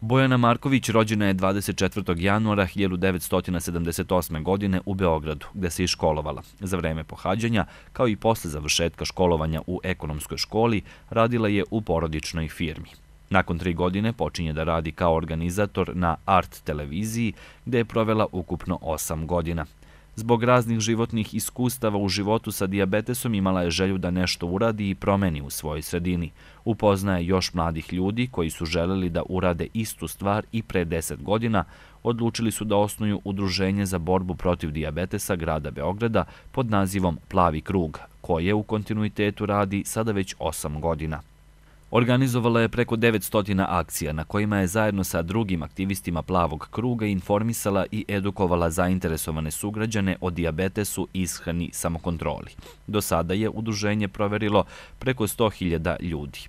Bojana Marković rođena je 24. januara 1978. godine u Beogradu, gde se i školovala. Za vreme pohađanja, kao i posle završetka školovanja u ekonomskoj školi, radila je u porodičnoj firmi. Nakon 3 godine počinje da radi kao organizator na Art televiziji, gde je provela ukupno 8 godina. Zbog raznih životnih iskustava u životu sa dijabetesom imala je želju da nešto uradi i promeni u svojoj sredini. Upoznaje još mladih ljudi koji su želeli da urade istu stvar i pre 10 godina odlučili su da osnuju udruženje za borbu protiv dijabetesa grada Beograda pod nazivom Plavi krug, koje u kontinuitetu radi sada već 8 godina. Organizovala je preko 900 akcija na kojima je zajedno sa drugim aktivistima Plavog kruga informisala i edukovala zainteresovane sugrađane o dijabetesu, ishrani, samokontroli. Do sada je udruženje proverilo preko 100.000 ljudi.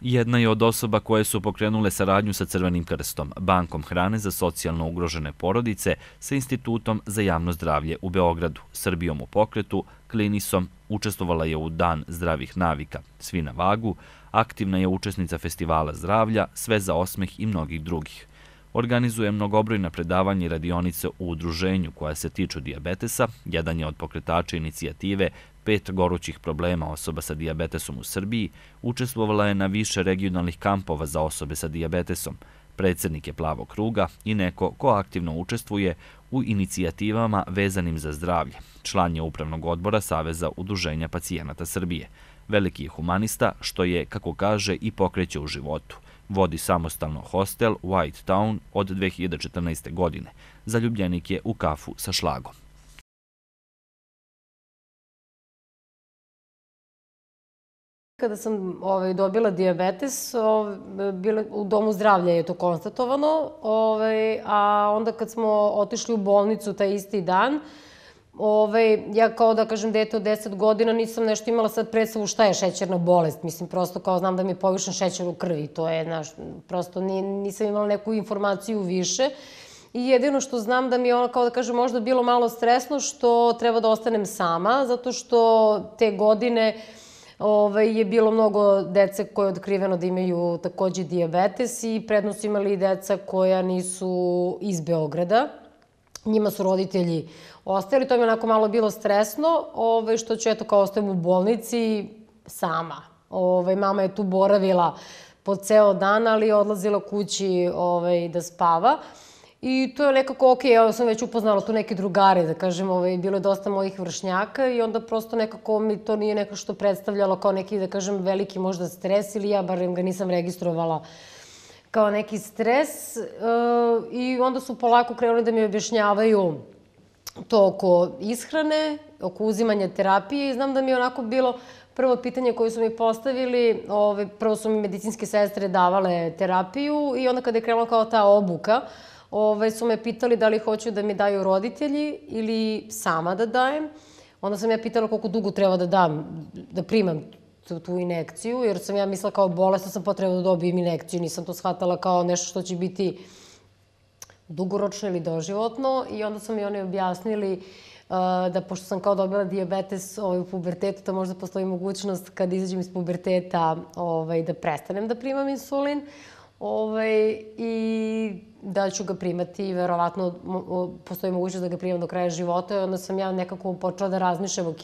Jedna je od osoba koje su pokrenule saradnju sa Crvenim krstom, Bankom hrane za socijalno ugrožene porodice, sa Institutom za javno zdravlje u Beogradu, Srbijom u pokretu, Klinisom, učestvovala je u Dan zdravih navika, Svi na vagu, aktivna je učesnica Festivala zdravlja, Sve za osmeh i mnogih drugih. Organizuje mnogobrojna predavanja i radionice u udruženju koja se tiču dijabetesa, jedan je od pokretača inicijative 5 gorućih problema osoba sa dijabetesom u Srbiji, učestvovala je na više regionalnih kampova za osobe sa dijabetesom, predsednik je Plavog kruga i neko ko aktivno učestvuje u inicijativama vezanim za zdravlje. Član je upravnog odbora Saveza udruženja pacijenata Srbije. Veliki je humanista, što je, kako kaže, i pokreće u životu. Vodi samostalno hostel White Town od 2014. godine. Zaljubljenik je u kafu sa šlagom. Kada sam dobila dijabetes, u domu zdravlja je to konstatovano, a onda kad smo otišli u bolnicu taj isti dan, ja kao da kažem dete od 10 godina nisam nešto imala sad predstavu šta je šećerna bolest. Mislim, prosto kao znam da mi je povišen šećer u krvi. To je, prosto nisam imala neku informaciju više. I jedino što znam da mi je ono, kao da kažem, možda bilo malo stresno što treba da ostanem sama, zato što te godine je bilo mnogo dece koje je otkriveno da imaju takođe dijabetes i prednost su imali i deca koja nisu iz Beograda. Njima su roditelji ostajali, to mi je onako malo bilo stresno, što ću, eto, kao ostajem u bolnici sama. Mama je tu boravila po ceo dan, ali je odlazila kući da spava. I to je nekako okej, ja sam već upoznala tu neke drugare, da kažem, bilo je dosta mojih vršnjaka i onda prosto nekako mi to nije neko što predstavljalo kao neki, da kažem, veliki možda stres ili ja barem ga nisam registrovala kao neki stres. I onda su polako krenuli da mi objašnjavaju to oko ishrane, oko uzimanja terapije i znam da mi je onako bilo prvo pitanje koje su mi postavili, prvo su mi medicinske sestre davale terapiju i onda kada je krenula kao ta obuka, su me pitali da li hoću da mi daju roditelji ili sama da dajem. Onda sam ja pitala koliko dugo treba da dam, da primam tu injekciju, jer sam ja mislila kao bolesna sam potrebna da dobijem injekciju. Nisam to shvatala kao nešto što će biti dugoročno ili doživotno. I onda su mi oni objasnili da pošto sam kao dobila dijabetes u pubertetu, da možda postoji mogućnost kad izađem iz puberteta da prestanem da primam insulin. I da ću ga primati, verovatno postoji mogućnost da ga primam do kraja života i onda sam ja nekako počela da razmišljam,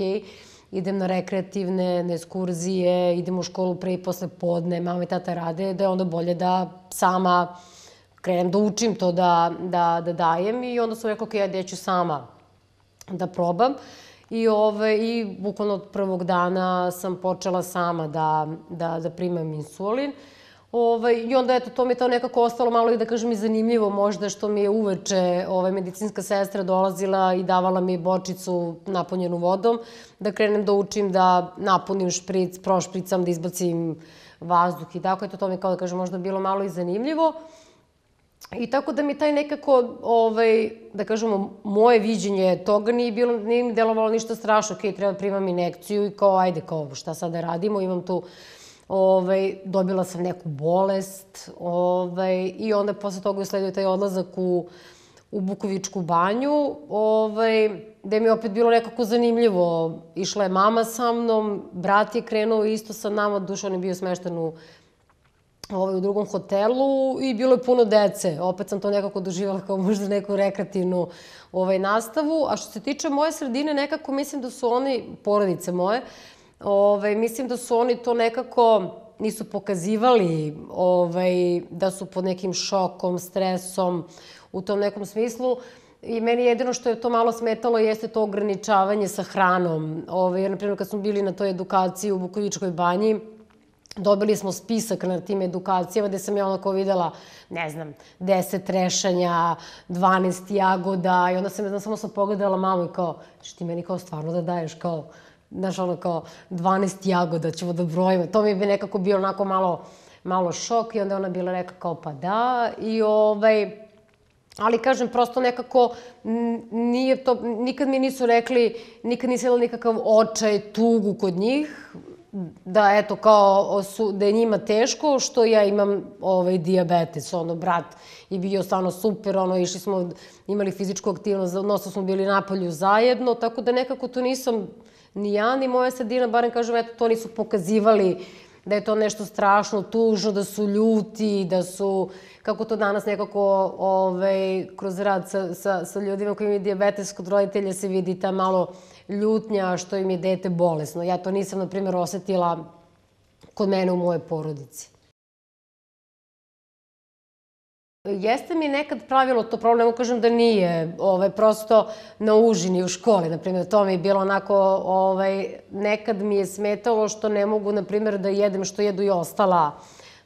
idem na rekreativne, na ekskurzije, idem u školu pre i posle podne, mama i tata rade, da je onda bolje da sama krenem da učim to da dajem i onda sam rekla, ja ću sama da probam i bukvalno od prvog dana sam počela sama da primam insulin. I onda, eto, to mi je to nekako ostalo malo i da kažem i zanimljivo možda što mi je uveče medicinska sestra dolazila i davala mi bočicu napunjenu vodom, da krenem da učim da napunim špric, prošpricam, da izbacim vazduh i tako. Eto, to mi je kao da kažem možda bilo malo i zanimljivo. I tako da mi taj nekako, da kažemo, moje viđenje toga nije mi delovalo ništa strašno. Treba primam injekciju i kao, ajde, kao, šta sad da radimo, imam tu dobila sam neku bolest i onda posle toga je sledio taj odlazak u Bukovičku banju, gde mi je opet bilo nekako zanimljivo. Išla je mama sa mnom, brat je krenuo isto sa nama, duše on je bio smešten u drugom hotelu i bilo je puno dece. Opet sam to nekako doživjela kao možda neku rekreativnu nastavu. A što se tiče moje sredine, nekako mislim da su oni, porodice moje, mislim da su oni to nekako nisu pokazivali da su pod nekim šokom, stresom, u tom nekom smislu. I meni jedino što je to malo smetalo jeste to ograničavanje sa hranom. Jer, na primjer, kad smo bili na toj edukaciji u Bukovičkoj banji, dobili smo spisak na tim edukacijama gde sam ja onako videla, ne znam, 10 trešanja, 12 jagoda i onda sam samo pogledala mamu i kao, što ti meni kao stvarno da daješ kao, znaš ono kao 12 jagoda ćemo da brojimo. To mi bi nekako bio onako malo šok i onda ona bila rekla kao pa da i ali kažem, prosto nekako nije to, nikad mi nisu rekli, nikad nisam imala nikakav očaj, tugu kod njih, da eto kao da je njima teško što ja imam dijabetes, brat je bio stvarno super, išli smo, imali fizičku aktivnost, odnosno smo bili napolju zajedno, tako da nekako to nisam ni ja, ni moja sredina, barem kažem, eto to nisu pokazivali da je to nešto strašno, tužno, da su ljuti, da su, kako to danas nekako kroz rad sa ljudima koji imaju dijabetes, kod roditelja se vidi ta malo ljutnja što im je dete bolesno. Ja to nisam, na primjer, osetila kod mene u mojoj porodici. Jeste mi nekad pravilo to problem, ne kažem da nije, prosto na užini u školi, na primjer, to mi je bilo onako, nekad mi je smetalo što ne mogu, na primjer, da jedem što jedu i ostala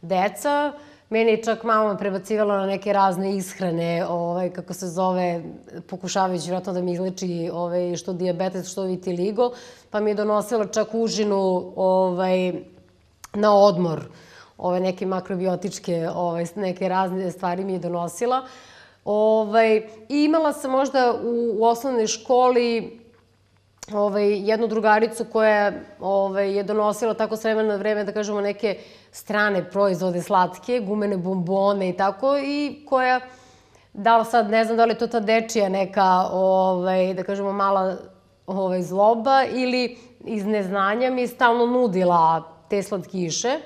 deca. Meni je čak mama prebacivala na neke razne ishrane, kako se zove, pokušavajući vjerojatno da mi izleči što dijabetes, što vitiligo, pa mi je donosila čak užinu na odmor. Neke makrobiotičke, neke razne stvari mi je donosila. I imala sam možda u osnovnoj školi jednu drugaricu koja je donosila tako s vremena na vreme, da kažemo, neke strane proizvode slatke, gumene bombone i tako, i koja, da li sad, ne znam da li je to ta dečija neka, da kažemo, mala zloba ili iz neznanja mi je stalno nudila te slatkiše.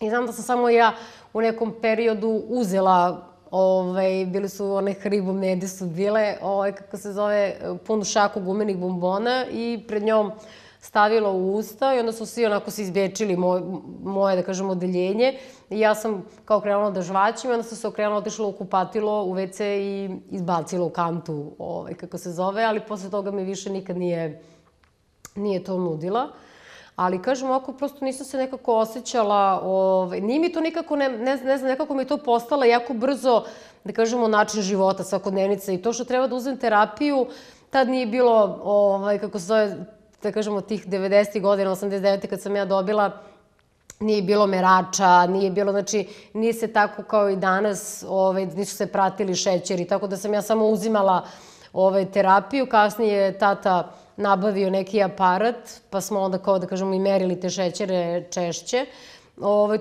I znam da sam samo ja u nekom periodu uzela, bili su one Haribo mede su bile, kako se zove, punu šaku gumenih bombona i pred njom stavila u usta i onda su svi onako se izbečili moje, da kažem, odeljenje. I ja sam kao krenula da žvaćim i onda sam se okrenula, otišla u kupatilo, u WC i izbacila u kantu, kako se zove, ali posle toga mi više nikad nije to nudila. Ali, kažem, ovako, prosto nisam se nekako osjećala, nije mi to nikako, ne znam, nekako mi je to postala jako brzo, da kažemo, način života, svakodnevnica i to što treba da uzem terapiju, tad nije bilo, kako se zove, da kažemo, tih 90. godina, 89. kad sam ja dobila, nije bilo merača, nije bilo, znači, nije se tako kao i danas, nisu se pratili šećeri, tako da sam ja samo uzimala terapiju, kasnije je tata nabavio neki aparat, pa smo onda kao da kažemo i merili te šećere češće.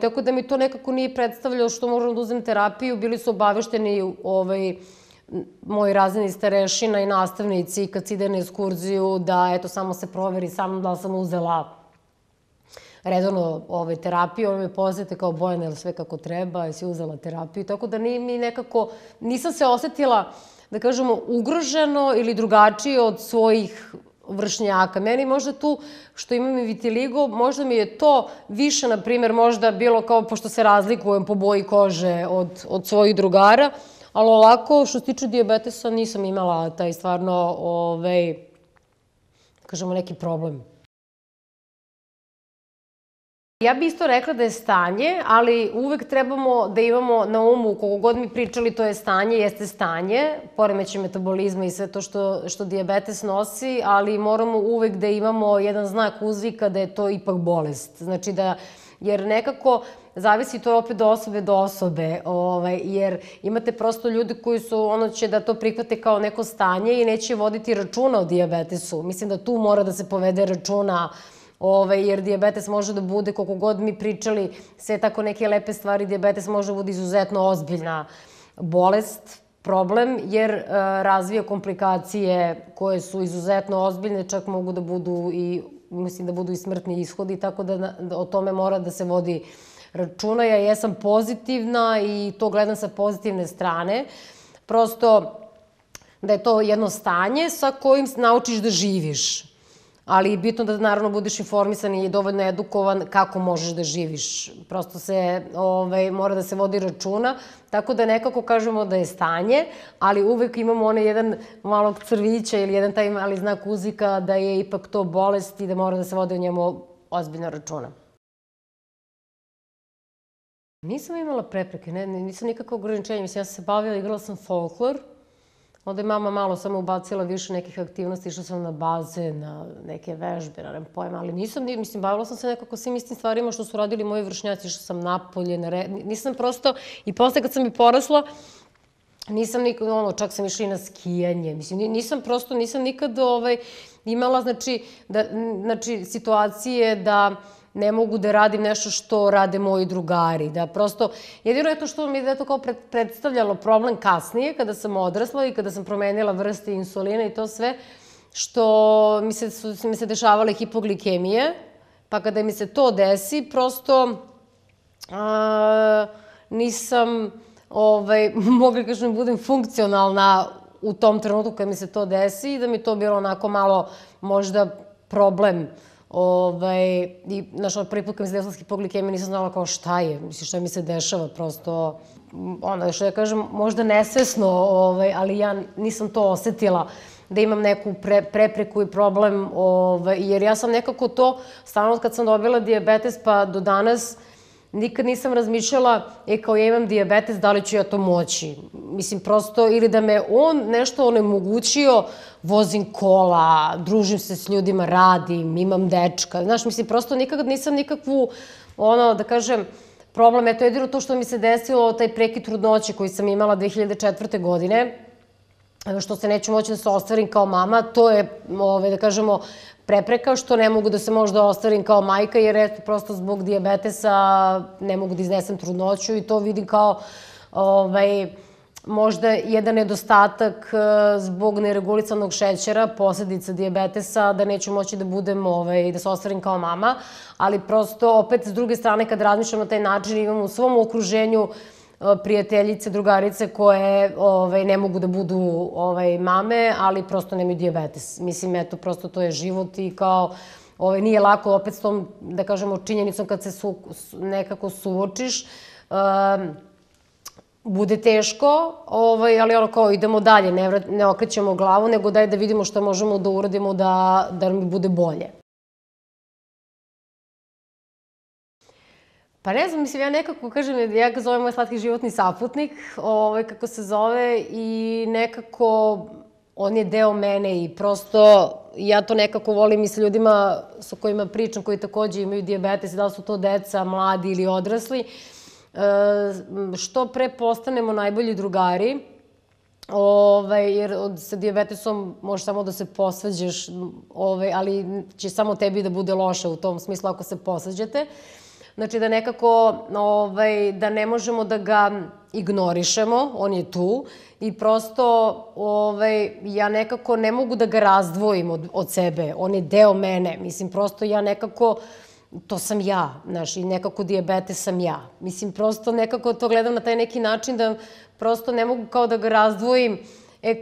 Tako da mi to nekako nije predstavljalo što moram da uzem terapiju. Bili su obavešteni moji razredni starešina i nastavnici kad se ide na ekskurziju da eto samo se proveri sa mnom da li sam uzela redovno terapiju. Ono me poznate kao Bojana, je li sve kako treba, jesi uzela terapiju. Tako da mi nekako, nisam se osetila, da kažemo, ugroženo ili drugačije od svojih vršnjaka. Meni možda tu što imam i vitiligo, možda mi je to više, na primjer, možda bilo kao, pošto se razlikujem po boji kože od svojih drugara, ali ovako, što se tiče dijabetesa, nisam imala taj stvarno, kažemo, neki problem. Ja bih isto rekla da je stanje, ali uvek trebamo da imamo na umu, koliko god mi pričali, to je stanje, jeste stanje, poremećaj metabolizma i sve to što dijabetes nosi, ali moramo uvek da imamo jedan znak uzvika da je to ipak bolest. Znači da, jer nekako zavisi to opet od osobe, jer imate prosto ljudi koji su, ono će da to prihvate kao neko stanje i neće voditi računa o dijabetesu. Mislim da tu mora da se povede računa, jer dijabetes može da bude, koliko god mi pričali, sve tako neke lepe stvari, dijabetes može da bude izuzetno ozbiljna bolest, problem, jer razvija komplikacije koje su izuzetno ozbiljne, čak mogu da budu i, mislim da budu i smrtni ishodi, tako da o tome mora da se vodi računa. Ja jesam pozitivna i to gledam sa pozitivne strane. Prosto da je to jedno stanje sa kojim naučiš da živiš. Ali je bitno da naravno budeš informisan i dovoljno edukovan kako možeš da živiš. Prosto se mora da se vodi računa, tako da nekako kažemo da je stanje, ali uvek imamo onaj jedan malog crvića ili jedan taj mali znak uzvika da je ipak to bolest i da mora da se vodi o njemu ozbiljno računa. Nisam imala prepreke, nisam nikakvo ograničenje. Mislim, ja sam se bavila, igrala sam folklor. Onda je mama malo samo ubacila više nekih aktivnosti, išla sam na baze, na neke vežbe, na pojma, ali nisam, mislim, bavila sam se nekako svim istim stvarima što su radili moji vršnjaci, išla sam napolje, nisam prosto, i posle kad sam i porasla, nisam nikad, čak sam išla i na skijanje, mislim, nisam nikad imala, znači, situacije da ne mogu da radim nešto što rade moji drugari, da prosto, jedino je to što mi je to kao predstavljalo problem kasnije, kada sam odrasla i kada sam promenila vrste insulina i to sve, što mi se dešavale hipoglikemije, pa kada mi se to desi, prosto nisam mogla, kažem, budem funkcionalna u tom trenutku kada mi se to desi i da mi to bilo onako malo možda problem. I, znaš, prvi put kad mi se desila hipoglikemija nisam znala kao šta je, mislim, šta mi se dešava, prosto, što ja kažem, možda nesvesno, ali ja nisam to osetila, da imam neku prepreku i problem, jer ja sam nekako to, stalno kad sam dobila dijabetes pa do danas, nikad nisam razmišljala, kao ja imam dijabetes, da li ću ja to moći. Mislim, prosto, ili da me on nešto onemogućio, vozim kola, družim se s ljudima, radim, imam dečka. Znaš, mislim, prosto nikad nisam nikakvu, da kažem, problem. Eto, jedino to što mi se desilo, taj prekid trudnoće koji sam imala 2004. godine, što se neću moći da se ostvarim kao mama, to je, da kažemo, prepreka što ne mogu da se možda ostvarim kao majka, jer eto, prosto zbog dijabetesa ne mogu da iznesem trudnoću i to vidim kao možda jedan nedostatak zbog neregulisanog šećera, posledica dijabetesa, da neću moći da budem, da se ostvarim kao mama, ali prosto opet s druge strane kad razmišljam na taj način imam u svom okruženju prijateljice, drugarice koje ne mogu da budu mame, ali prosto nemaju dijabetes. Mislim, eto, prosto to je život i kao nije lako opet s tom, da kažemo, činjenicom kad se nekako suočiš, bude teško, ali ono kao idemo dalje, ne okrećemo glavu, nego daj da vidimo šta možemo da uradimo da mi bude bolje. Pa ne znam, mislim, ja nekako, kažem, ja ga zovem moj slatki životni saputnik, kako se zove, i nekako on je deo mene i prosto ja to nekako volim i sa ljudima sa kojima pričam, koji takođe imaju dijabetes, da li su to deca, mladi ili odrasli, što pre postanemo najbolji drugari, jer sa dijabetesom možeš samo da se posvađaš, ali će samo tebi da bude loše u tom smislu ako se posvađate. Znači da nekako, da ne možemo da ga ignorišemo, on je tu i prosto ja nekako ne mogu da ga razdvojim od sebe, on je deo mene, mislim prosto ja nekako, to sam ja, znaš, i nekako dijabetes sam ja. Mislim prosto nekako to gledam na taj neki način da prosto ne mogu kao da ga razdvojim,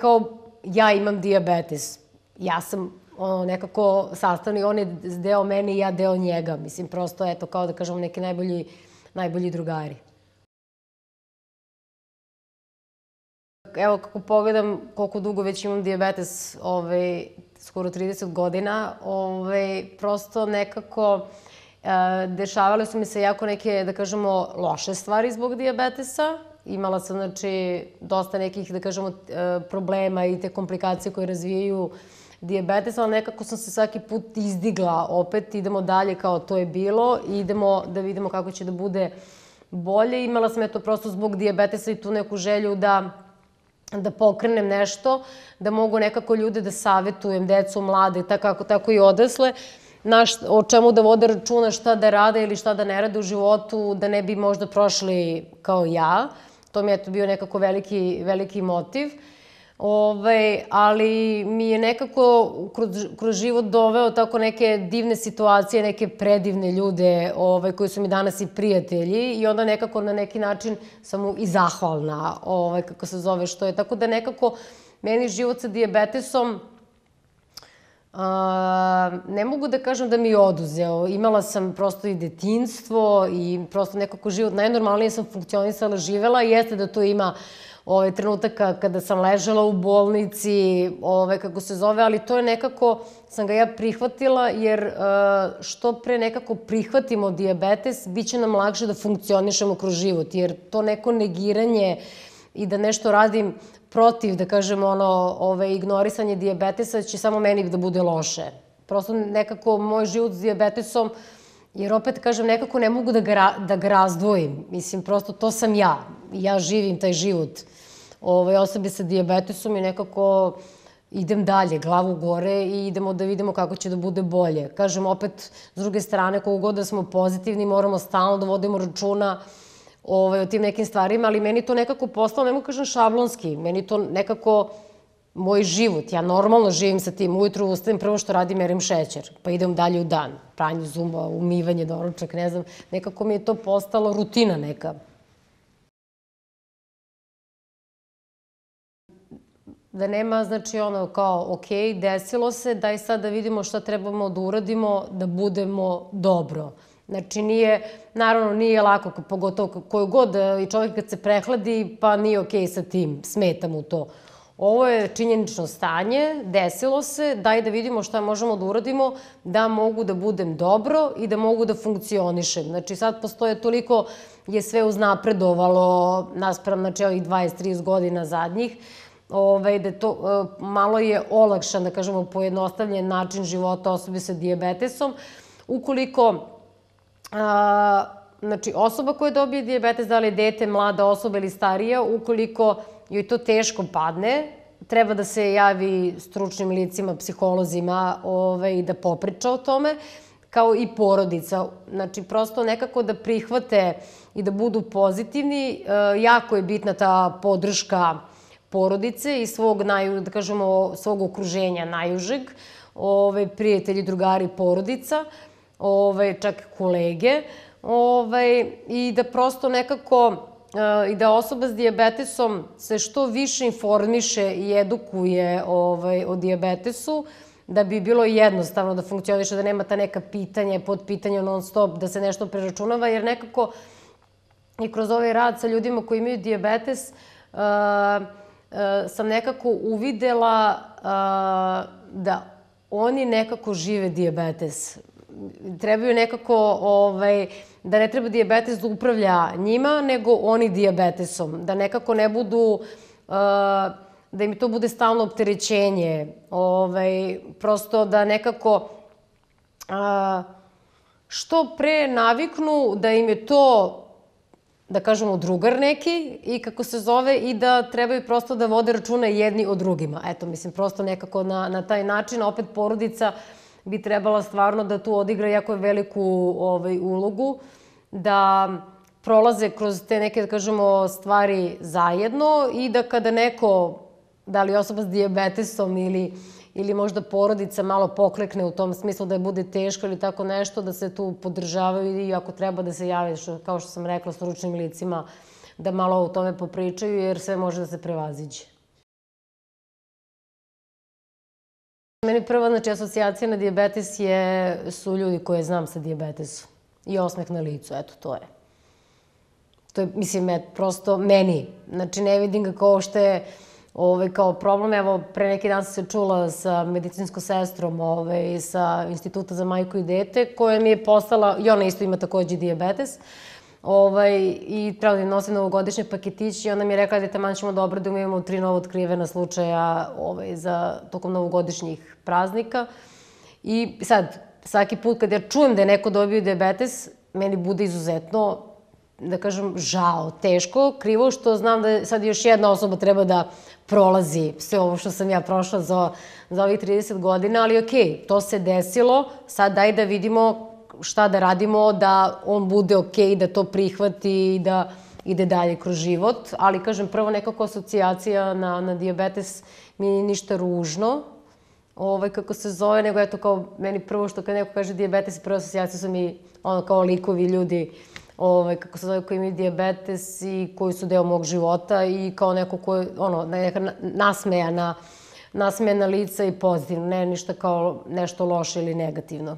kao ja imam dijabetes, ja sam nekako sastavni, on je deo mene i ja deo njega. Mislim, prosto, eto, kao da kažemo, neki najbolji drugari. Evo, kako pogledam koliko dugo već imam dijabetes, skoro 30 godina, prosto nekako dešavale su mi se jako neke, da kažemo, loše stvari zbog dijabetesa. Imala sam, znači, dosta nekih, da kažemo, problema i te komplikacije koje razvijaju dijabetes, ali nekako sam se svaki put izdigla opet, idemo dalje kao to je bilo i idemo da vidimo kako će da bude bolje. Imala sam eto prosto zbog dijabetesa i tu neku želju da pokrenem nešto, da mogu nekako ljude da savetujem, decu, mlade, tako i odrasle, o čemu da vode računa, šta da rade ili šta da ne rade u životu, da ne bi možda prošli kao ja. To mi je eto bio nekako veliki motiv. Ali mi je nekako kroz život doveo tako neke divne situacije, neke predivne ljude koji su mi danas i prijatelji i onda nekako na neki način sam mu i zahvalna, kako se zove, što je. Tako da nekako meni život sa dijabetesom ne mogu da kažem da mi je oduzeo. Imala sam prosto i detinjstvo i prosto nekako život najnormalnije sam funkcionisala, živela i jeste da to ima trenutaka kada sam ležala u bolnici, kako se zove, ali to je nekako, sam ga ja prihvatila, jer što pre nekako prihvatimo dijabetes, bit će nam lakše da funkcionišemo kroz život, jer to neko negiranje i da nešto radim protiv, da kažem, ignorisanje dijabetesa će samo meni da bude loše. Prosto nekako moj život s dijabetesom, jer opet, kažem, nekako ne mogu da ga razdvojim. Mislim, prosto to sam ja. Ja živim taj život osobe sa dijabetesom i nekako idem dalje, glavu gore i idemo da vidimo kako će da bude bolje. Kažem, opet, s druge strane, koliko god da smo pozitivni, moramo stalno da vodimo računa o tim nekim stvarima, ali meni to nekako postalo, ne mogu kažem šablonski, meni to nekako moj život. Ja normalno živim sa tim. Ujutru ustajem, prvo što radim, merim šećer, pa idem dalje u dan. Pranje zuba, umivanje, doručak, ne znam. Nekako mi je to postalo rutina neka. Da nema, znači kao, ok, desilo se, daj sad da vidimo šta trebamo da uradimo, da budemo dobro. Znači, naravno, nije lako, pogotovo koju god i čovjek kad se prehladi, pa nije okej sa tim, smeta mu to. Ovo je činjenično stanje, desilo se, daj da vidimo šta možemo da uradimo, da mogu da budem dobro i da mogu da funkcionišem. Znači, sad postoje toliko, je sve uznapredovalo, naspram, znači, ovih 20-30 godina zadnjih, da to malo je olakšan, da kažemo, pojednostavljen način života osobe sa dijabetesom. Ukoliko znači, osoba koja dobije dijabetes, da li je dete, mlada osoba ili starija, ukoliko joj to teško padne, treba da se javi stručnim licima, psiholozima i da popriča o tome, kao i porodica. Znači, prosto nekako da prihvate i da budu pozitivni. Jako je bitna ta podrška porodice i svog, da kažemo, svog okruženja najužeg, prijatelji, drugari, porodica, čak kolege, i da prosto nekako, i da osoba s dijabetesom se što više informiše i edukuje o dijabetesu, da bi bilo jednostavno da funkcioniše, da nema ta neka pitanja, podpitanja non stop, da se nešto preračunava, jer nekako i kroz ovaj rad sa ljudima koji imaju dijabetes sam nekako uvidela da oni nekako žive dijabetes. Trebaju nekako, da ne treba dijabetes da upravlja njima, nego oni dijabetesom. Da nekako ne budu, da im to bude stalno opterećenje. Prosto da nekako što pre naviknu da im je to, da kažemo, drugar neki i kako se zove, i da trebaju prosto da vode računa jedni o drugima. Eto, mislim, prosto nekako na taj način, opet porodica bi trebala stvarno da tu odigra jako veliku ulogu, da prolaze kroz te neke, da kažemo, stvari zajedno i da kada neko, da li osoba s dijabetesom ili možda porodica malo poklekne u tom smislu da je bude teško ili tako nešto, da se tu podržavaju i ako treba da se jave, kao što sam rekla, stručnim licima, da malo o tome popričaju, jer sve može da se prevaziđe. Meni prva, znači, asocijacija na dijabetes su ljudi koje znam sa dijabetesom i osmeh na licu, eto, to je. To je, mislim, prosto meni. Znači, ne vidim ga kao što je kao problem. Evo, pre neki dan sam se čula sa medicinskom sestrom sa Instituta za majku i dete, koja mi je postala, i ona isto ima takođe dijabetes, i treba da im nosim novogodišnje paketići i ona mi je rekla da taman ćemo da obradimo, imamo 3 novo otkrivena slučaja za tokom novogodišnjih praznika. I sad, svaki put kad ja čujem da je neko dobio dijabetes, meni bude izuzetno, da kažem, žao, teško, krivo, što znam da sad još jedna osoba treba da prolazi sve ovo što sam ja prošla za ovih 30 godina, ali okej, to se desilo, sad daj da vidimo šta da radimo, da on bude okej, da to prihvati i da ide dalje kroz život, ali kažem, prvo nekako asocijacija na dijabetes mi nije ništa ružno, kako se zove, nego eto kao meni prvo što kad neko kaže dijabetes, prva asocijacija su mi ono kao likovi ljudi, kako se zove, koji imaju dijabetes i koji su deo mog života i kao neko koji, neka nasmejana lica i pozitivno, ne ništa kao nešto loše ili negativno.